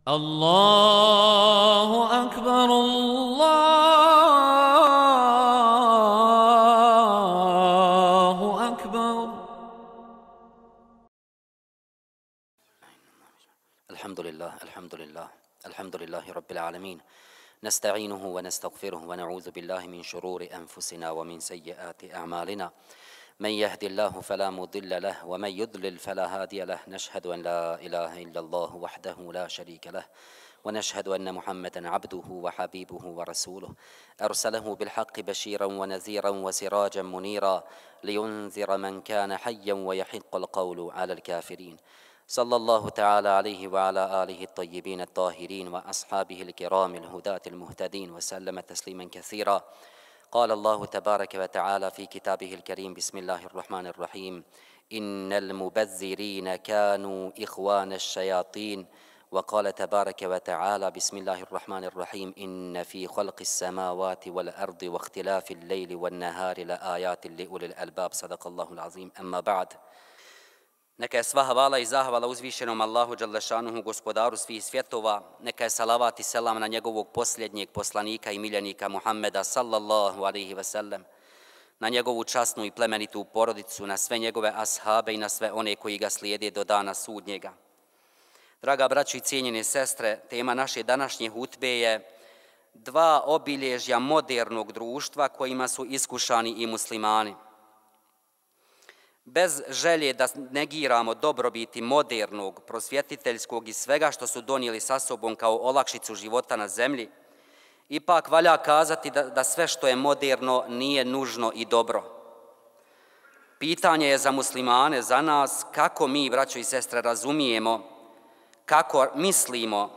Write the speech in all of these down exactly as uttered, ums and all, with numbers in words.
الله أكبر الله أكبر. الحمد لله الحمد لله الحمد لله رب العالمين، نستعينه ونستغفره ونعوذ بالله من شرور أنفسنا ومن سيئات أعمالنا، من يهد الله فلا مضل له ومن يضلل فلا هادي له، نشهد أن لا إله إلا الله وحده لا شريك له، ونشهد أن محمدا عبده وحبيبه ورسوله، أرسله بالحق بشيرا ونذيرا وسراجا منيرا لينذر من كان حيا ويحق القول على الكافرين، صلى الله تعالى عليه وعلى آله الطيبين الطاهرين وأصحابه الكرام الهداة المهتدين وسلم تسليما كثيرا. قال الله تبارك وتعالى في كتابه الكريم: بسم الله الرحمن الرحيم، إن المبذرين كانوا إخوان الشياطين. وقال تبارك وتعالى: بسم الله الرحمن الرحيم، إن في خلق السماوات والأرض واختلاف الليل والنهار لآيات لأولي الألباب. صدق الله العظيم. أما بعد. Neka je sva hvala i zahvala uzvišenom Allahu Đalešanuhu, gospodaru svih svjetova. Neka je salavat i selam na njegovog posljednjeg poslanika i miljenika Muhammeda sallallahu alaihi ve sellem, na njegovu časnu i plemenitu porodicu, na sve njegove ashabe i na sve one koji ga slijede do dana sudnjega. Draga braćo i cijenjene sestre, tema naše današnje hutbe je dva obilježja modernog društva kojima su iskušani i muslimani. Bez želje da negiramo dobrobiti modernog, prosvjetiteljskog i svega što su donijeli sa sobom kao olakšicu života na zemlji, ipak valja kazati da, da sve što je moderno nije nužno i dobro. Pitanje je za muslimane, za nas, kako mi, braćo i sestre, razumijemo, kako mislimo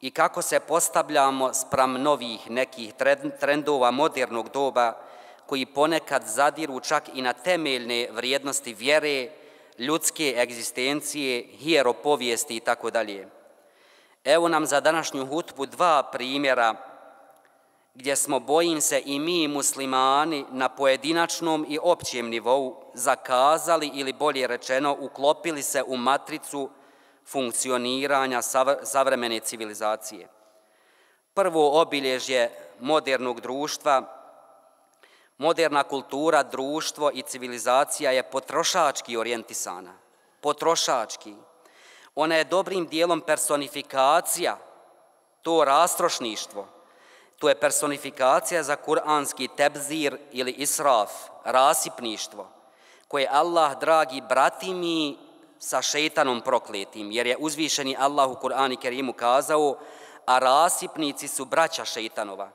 i kako se postavljamo spram novih nekih trendova modernog doba koji ponekad zadiru čak i na temeljne vrijednosti vjere, ljudske egzistencije, hieropovijesti i tako dalje. Evo nam za današnju hutbu dva primjera gdje smo, bojim se, i mi muslimani na pojedinačnom i općem nivou zakazali ili bolje rečeno uklopili se u matricu funkcioniranja savremene civilizacije. Prvo obilježje modernog društva, moderna kultura, društvo i civilizacija je potrošački orijentisana. Potrošački. Ona je dobrim dijelom personifikacija, to rastrošništvo. To je personifikacija za kuranski tebzir ili israf, rasipništvo, koje Allah, dragi brati mi, sa šeitanom prokletim, jer je uzvišeni Allah u Kur'anu Kerimu kazao: a rasipnici su braća šeitanova.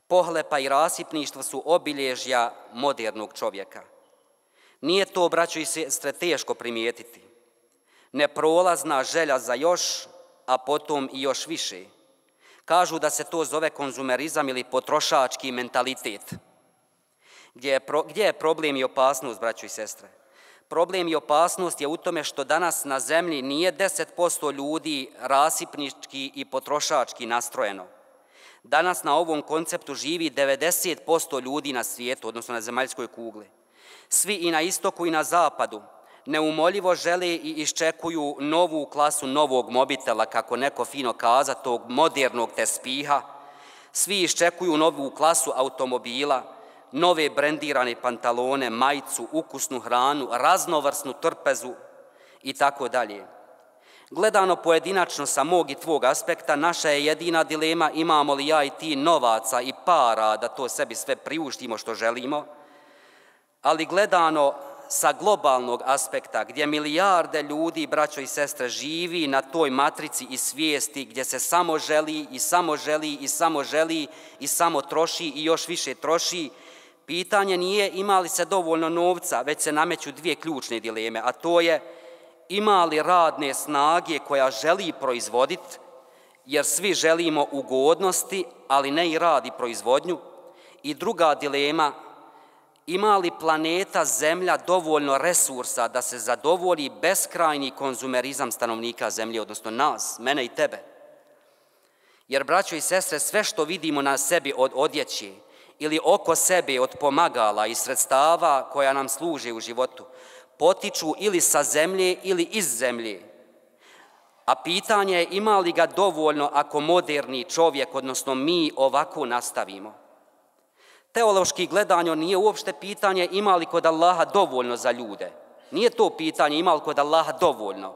Pohlepa i rasipništvo su obilježja modernog čovjeka. Nije to, braćo i sestre, teško primijetiti. Neprolazna želja za još, a potom i još više. Kažu da se to zove konzumerizam ili potrošački mentalitet. Gdje je, pro, gdje je problem i opasnost, braćo i sestre? Problem i opasnost je u tome što danas na zemlji nije deset posto ljudi rasipnički i potrošački nastrojeno. Danas na ovom konceptu živi devedeset posto ljudi na svijetu, odnosno na zemaljskoj kugli. Svi i na istoku i na zapadu neumoljivo žele i iščekuju novu klasu novog mobitela, kako neko fino kaza, tog modernog tespiha. Svi iščekuju novu klasu automobila, nove brendirane pantalone, majicu, ukusnu hranu, raznovrsnu trpezu i tako dalje. Gledano pojedinačno sa mog i tvog aspekta, naša je jedina dilema imamo li ja i ti novaca i para da to sebi sve priuštimo što želimo, ali gledano sa globalnog aspekta, gdje milijarde ljudi, braćo i sestre, živi na toj matrici i svijesti gdje se samo želi i samo želi i samo želi i samo troši i još više troši, pitanje nije ima li se dovoljno novca, već se nameću dvije ključne dileme, a to je: ima li radne snage koja želi proizvoditi, jer svi želimo ugodnosti, ali ne i rad i proizvodnju. I druga dilema: ima li planeta Zemlja dovoljno resursa da se zadovolji beskrajni konzumerizam stanovnika Zemlje, odnosno nas, mene i tebe. Jer, braćo i sestre, sve što vidimo na sebi od odjeće ili oko sebe od pomagala i sredstava koja nam služe u životu, potiču ili sa zemlje ili iz zemlje. A pitanje je ima li ga dovoljno ako moderni čovjek, odnosno mi, ovako nastavimo. Teološki gledanje nije uopšte pitanje ima li kod Allaha dovoljno za ljude. Nije to pitanje ima li kod Allaha dovoljno,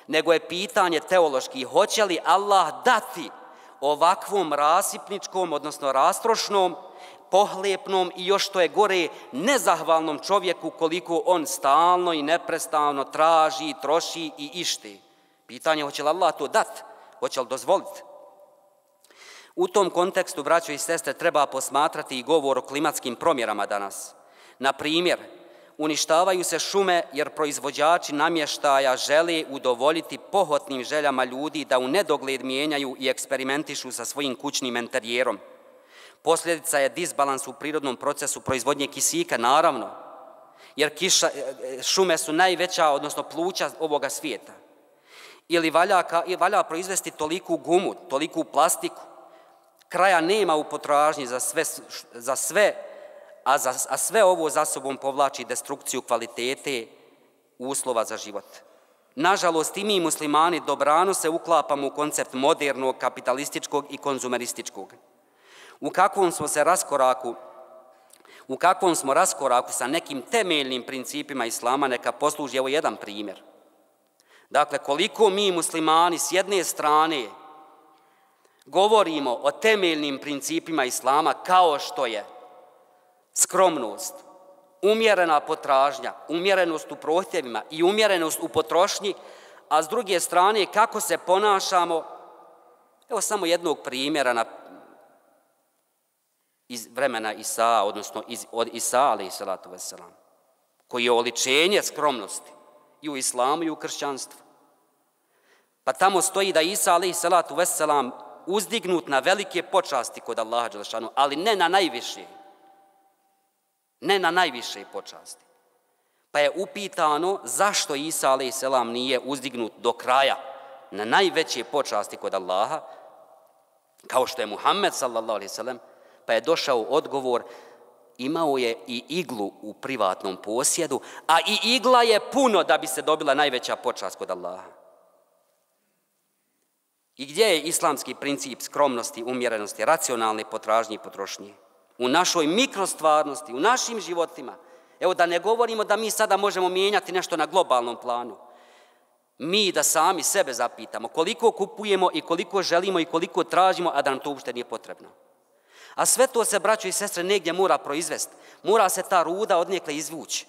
nego je pitanje teološki hoće li Allah dati ovakvom rasipničkom, odnosno rastrošnom, pohlepnom i još što je gore nezahvalnom čovjeku koliko on stalno i neprestano traži, troši i išti. Pitanje hoće li Allah to dati, hoće li dozvoliti. U tom kontekstu, braćo i sestre, treba posmatrati i govor o klimatskim promjerama danas. Na primjer, uništavaju se šume jer proizvođači namještaja žele udovoljiti pohotnim željama ljudi da u nedogled mijenjaju i eksperimentišu sa svojim kućnim enterijerom. Posljedica je disbalans u prirodnom procesu proizvodnje kisika, naravno, jer kiša, šume su najveća, odnosno pluća ovoga svijeta. Ili valja, valja proizvesti toliku gumu, toliku plastiku, kraja nema u potražnji za sve, za sve a, za, a sve ovo za sobom povlači destrukciju kvalitete uslova za život. Nažalost, i mi muslimani dobrano se uklapamo u koncept modernog, kapitalističkog i konzumerističkog. U kakvom smo se raskoraku, u kakvom smo raskoraku sa nekim temeljnim principima islama, neka posluži evo jedan primjer. Dakle, koliko mi muslimani s jedne strane govorimo o temeljnim principima islama kao što je skromnost, umjerena potražnja, umjerenost u prohtjevima i umjerenost u potrošnji, a s druge strane kako se ponašamo, evo samo jednog primjera na, iz vremena Isa, odnosno iz, od Isa, alejhi salatu vesselam, koji je oličenje skromnosti i u islamu i u kršćanstvu. Pa tamo stoji da Isa, alejhi salatu vesselam, uzdignut na velike počasti kod Allaha dželešanu, ali ne na najviše. Ne na najviše počasti. Pa je upitano zašto Isa, alejhi selam, nije uzdignut do kraja na najveće počasti kod Allaha, kao što je Muhammed, sallallahu alejhi ve sellem, pa je došao odgovor, imao je i iglu u privatnom posjedu, a i igla je puno da bi se dobila najveća počast kod Allaha. I gdje je islamski princip skromnosti, umjerenosti, racionalne potražnje i potrošnje? U našoj mikrostvarnosti, u našim životima. Evo da ne govorimo da mi sada možemo mijenjati nešto na globalnom planu. Mi da sami sebe zapitamo koliko kupujemo i koliko želimo i koliko tražimo, a da nam to uopšte nije potrebno. A sve to se, braćo i sestre, negdje mora proizvesti. Mora se ta ruda odnekle izvući.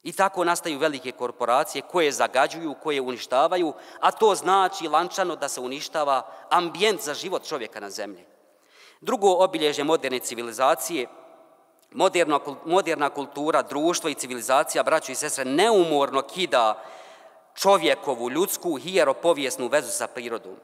I tako nastaju velike korporacije koje zagađuju, koje uništavaju, a to znači lančano da se uništava ambijent za život čovjeka na zemlji. Drugo obilježje moderne civilizacije, moderna, moderna kultura, društvo i civilizacija, braćo i sestre, neumorno kida čovjekovu, ljudsku, hijeropovijesnu vezu sa prirodom.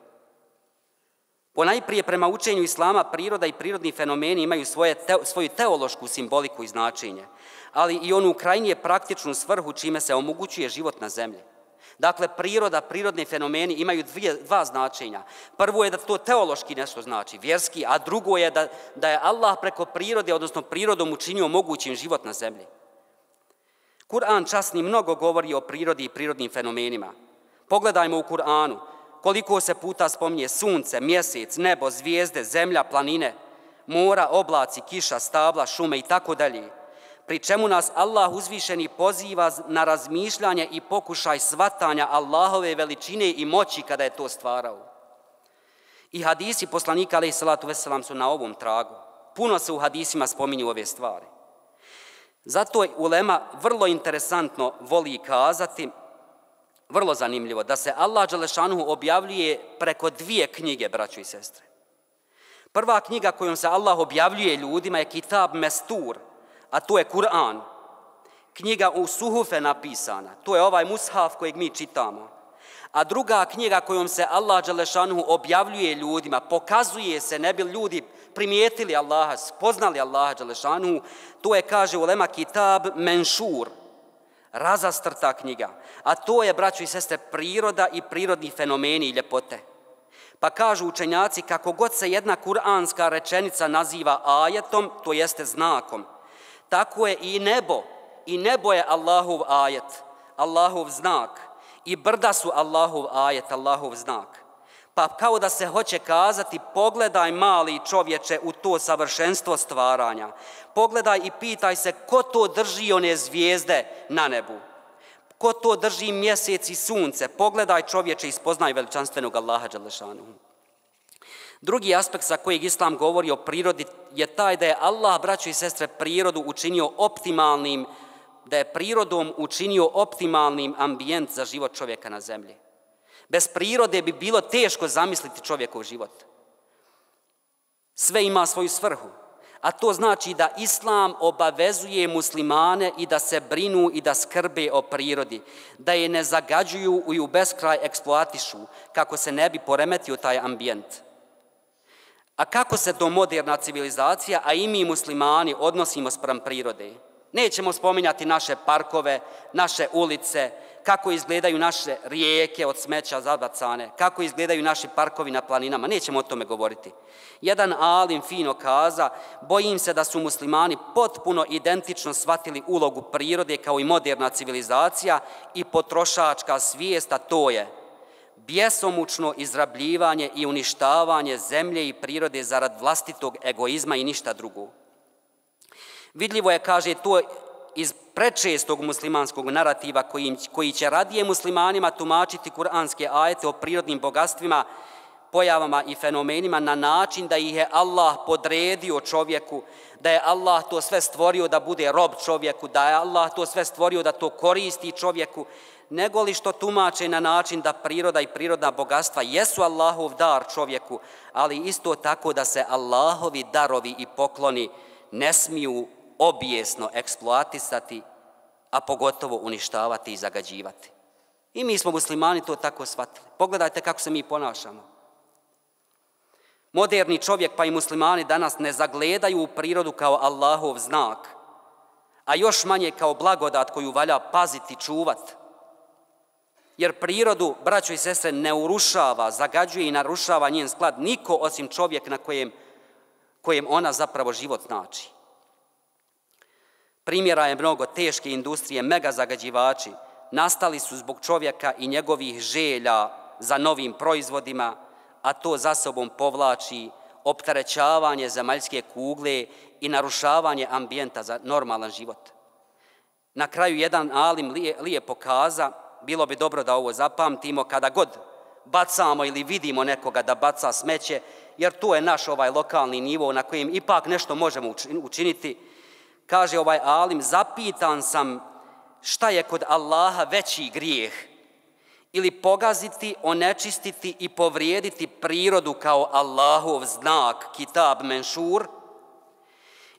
Ponajprije prema učenju islama priroda i prirodni fenomeni imaju svoje te, svoju teološku simboliku i značenje, ali i onu krajnje praktičnu svrhu čime se omogućuje život na zemlji. Dakle, priroda, prirodni fenomeni imaju dvije, dva značenja. Prvo je da to teološki nešto znači, vjerski, a drugo je da, da je Allah preko prirode, odnosno prirodom učinio mogućim život na zemlji. Kur'an časni mnogo govori o prirodi i prirodnim fenomenima. Pogledajmo u Kur'anu koliko se puta spominje sunce, mjesec, nebo, zvijezde, zemlja, planine, mora, oblaci, kiša, stabla, šume i tako dalje. Pri čemu nas Allah uzvišeni poziva na razmišljanje i pokušaj shvatanja Allahove veličine i moći kada je to stvarao. I hadisi poslanika alejhi salatu vesselam su na ovom tragu. Puno se u hadisima spominju ove stvari. Zato je ulema vrlo interesantno voli kazati, vrlo zanimljivo, da se Allah dželešanuhu objavljuje preko dvije knjige, braćo i sestre. Prva knjiga kojom se Allah objavljuje ljudima je Kitab Mestur, a to je Kur'an. Knjiga u suhufe napisana, to je ovaj mushaf kojeg mi čitamo. A druga knjiga kojom se Allah dželešanuhu objavljuje ljudima, pokazuje se, ne bi ljudi primijetili Allaha, spoznali Allaha dželešanuhu, to je, kaže ulema, Kitab Menšur, razastrta knjiga. A to je, braćo i sestre, priroda i prirodni fenomeni i ljepote. Pa kažu učenjaci, kako god se jedna kuranska rečenica naziva ajetom, to jeste znakom, tako je i nebo. I nebo je Allahov ajet, Allahov znak. i brda su Allahov ajet, Allahov znak. Pa kao da se hoće kazati, pogledaj mali čovječe u to savršenstvo stvaranja. Pogledaj i pitaj se ko to drži one zvijezde na nebu. Ko to drži mjesec i sunce. Pogledaj čovječe i spoznaj veličanstvenog Allaha dželešanuhu. Drugi aspekt sa kojeg Islam govori o prirodi je taj da je Allah, braćo i sestre, prirodu učinio optimalnim, da je prirodom učinio optimalnim ambijent za život čovjeka na zemlji. Bez prirode bi bilo teško zamisliti čovjekov život. Sve ima svoju svrhu, a to znači da Islam obavezuje muslimane i da se brinu i da skrbe o prirodi, da je ne zagađuju i u beskraj eksploatišu kako se ne bi poremetio taj ambijent. A kako se to moderna civilizacija, a i mi muslimani, odnosimo spram prirode? Nećemo spominjati naše parkove, naše ulice, kako izgledaju naše rijeke od smeća zabacane, kako izgledaju naši parkovi na planinama, nećemo o tome govoriti. Jedan alim fino kaza, bojim se da su muslimani potpuno identično shvatili ulogu prirode kao i moderna civilizacija i potrošačka svijest, a to je bjesomučno izrabljivanje i uništavanje zemlje i prirode zarad vlastitog egoizma i ništa drugo. Vidljivo je, kaže, to iz prečestog muslimanskog narativa koji, koji će radije muslimanima tumačiti kuranske ajete o prirodnim bogatstvima, pojavama i fenomenima na način da ih je Allah podredio čovjeku, da je Allah to sve stvorio da bude rob čovjeku, da je Allah to sve stvorio da to koristi čovjeku, nego li što tumače na način da priroda i prirodna bogatstva jesu Allahov dar čovjeku, ali isto tako da se Allahovi darovi i pokloni ne smiju obijesno eksploatisati, a pogotovo uništavati i zagađivati. I mi smo muslimani to tako shvatili. Pogledajte kako se mi ponašamo. Moderni čovjek pa i muslimani danas ne zagledaju u prirodu kao Allahov znak, a još manje kao blagodat koju valja paziti, čuvati. Jer prirodu, braćo i sestre, ne urušava, zagađuje i narušava njen sklad niko osim čovjek na kojem, kojem ona zapravo život znači. Primjera je mnogo. Teške industrije, mega zagađivači, nastali su zbog čovjeka i njegovih želja za novim proizvodima, a to za sobom povlači opterećavanje zemaljske kugle i narušavanje ambijenta za normalan život. Na kraju jedan alim lijepo kaza, bilo bi dobro da ovo zapamtimo kada god bacamo ili vidimo nekoga da baca smeće, jer to je naš ovaj lokalni nivo na kojem ipak nešto možemo učiniti. Kaže ovaj alim, zapitan sam šta je kod Allaha veći grijeh, ili pogaziti, onečistiti i povrijediti prirodu kao Allahov znak, kitab menšur,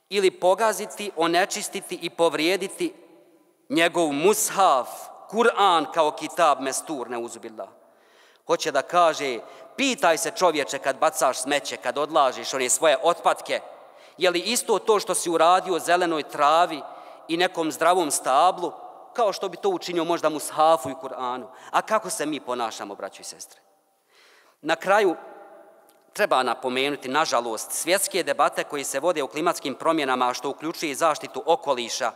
ili pogaziti, onečistiti i povrijediti njegov mushaf, Kur'an kao kitab mestur, neuzubillah. Hoće da kaže, pitaj se čovječe kad bacaš smeće, kad odlažiš one svoje otpadke, je li isto to što si uradio zelenoj travi i nekom zdravom stablu, kao što bi to učinio možda mushafu i Kur'anu? A kako se mi ponašamo, braćo i sestre? Na kraju treba napomenuti, nažalost, svjetske debate koje se vode o klimatskim promjenama, što uključuje zaštitu okoliša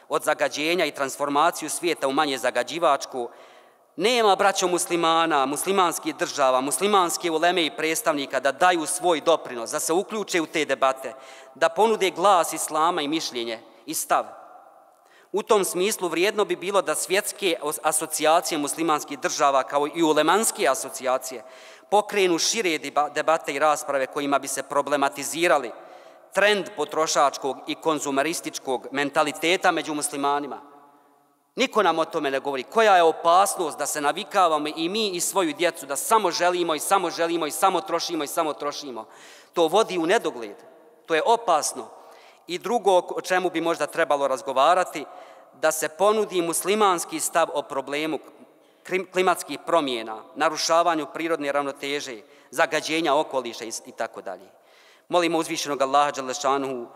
od zagađenja i transformaciju svijeta u manje zagađivačku, nema, braćo muslimana, muslimanskih država, muslimanske uleme i predstavnika da daju svoj doprinos, da se uključe u te debate, da ponude glas islama i mišljenje i stav. U tom smislu vrijedno bi bilo da svjetske asocijacije muslimanskih država kao i ulemanske asocijacije pokrenu šire debate i rasprave kojima bi se problematizirali trend potrošačkog i konzumerističkog mentaliteta među muslimanima. Niko nam o tome ne govori. Koja je opasnost da se navikavamo i mi i svoju djecu da samo želimo i samo želimo i samo trošimo i samo trošimo. To vodi u nedogled. To je opasno. I drugo o čemu bi možda trebalo razgovarati, da se ponudi muslimanski stav o problemu klimatskih promjena, narušavanju prirodne ravnoteže, zagađenja okoliša i tako dalje. Molimo uzvišenog Allaha dželešanuhu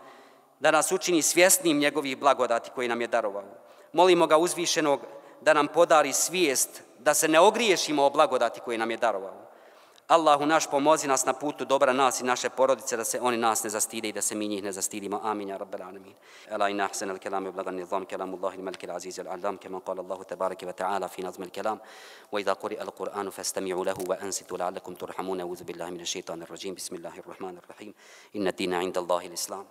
da nas učini svjesnim njegovih blagodati koji nam je darovao. Molimo ga uzvišenog da nam podari svijest da se ne ogriješimo o blagodati koji nam je darovao. Allahu naš, pomozi nas na putu dobra, nas i naše porodice, da se oni nas ne zastide i da se mi njih ne zastidimo. Amin, ja rabbal alamin. Ela inna ahsana al-kalam yablagha an-nizam kalamullahi al-malik al-aziz al-allam kama qala Allahu tabaraka wa ta'ala fi nazm al-kalam wa idha quri'a al-Qur'anu fastami'u lahu wa ansitu la'allakum turhamun. A'udhu billahi minash shaitanir rajim. Bismillahir rahmanir rahim. Inna ad-dina 'inda Allahi al-islam.